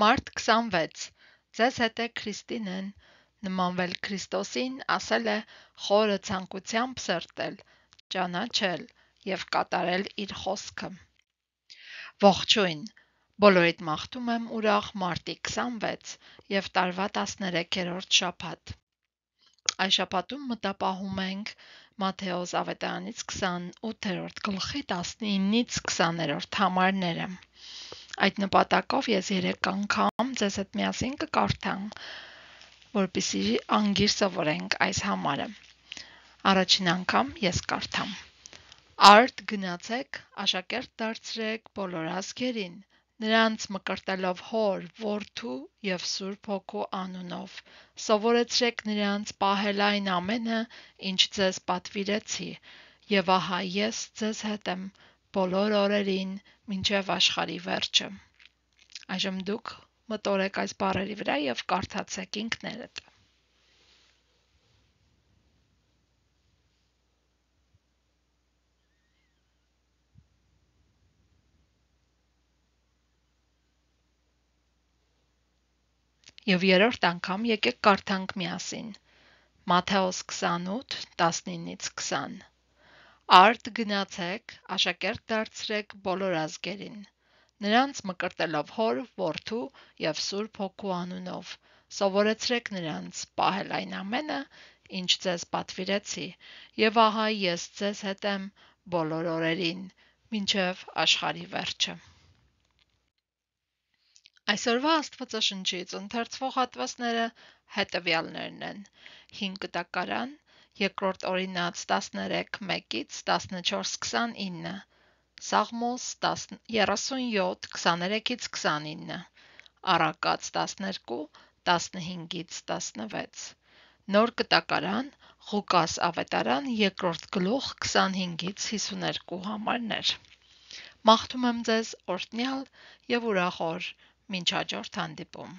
Մարտ 26. Ձեզ հետ է Քրիստինեն, նմանվել Քրիստոսին, ասել է խորը ցանկությամբ սրտել, ճանաչել և կատարել իր խոսքը։ Ողջույն, բոլորիդ մաղթում եմ ուրախ մարտի 26 և տարվա 13-րդ շաբաթ։ Այս շաբաթում մտապահում ենք Մատթեոս ավետարանից 28-րդ գլխի 19-ից 20-րդ համարները։ Այդ նպատակով ես 3 անգամ ձեզ հետ միասին կկարդամ, որպեսզի անգիր սովորենք այս համարը։ Առաջին անգամ ես կարդամ. Արդ գնացեք, աշակերտ դարձրեք բոլոր ազգերին, նրանց մկրտելով Հոր, Որդու և Սուրբ Հոգու անունով, սովորեցրեք նրանց պահել այն ամենը, ինչ ձեզ պատվիրեցի, և ահա ես ձեզ հետ եմ բոլոր օրերին մինչև աշխարհի վերջը։ Այժմ դուք մտորեք այս բառերի վրա և կարդացեք ինքներդ։ Եվ երրորդ անգամ եկեք կարդանք միասին։ Մատթեոս 28, 19-ից 20։ Արդ գնացեք, աշակերտ դարձրեք բոլոր ազգերին, նրանց մկրտելով Հոր, Որդու և Սուրբ Հոգու անունով, սովորեցրեք նրանց պահել այն ամենը, ինչ ձեզ պատվիրեցի, և ահա ես ձեզ հետ եմ բոլոր օրերին, մինչև աշխարհի վերջը։ Այսօրվա Աստվածաշնչից ընթերցվող հատվածները հետևյալներն են. 5 կտակարան, 2 Օրինաց 13:1-ից 14:29, Սաղմոս 37 23-ից 29, Առակաց 12 15-ից 16, Նոր կտակարան, Ղուկաս ավետարան 2 գլուխ 25-ից 52 համարներ։ Մաղթում եմ ձեզ օրհնյալ և ուրախ օր, մինչ հաջորդ հանդիպում։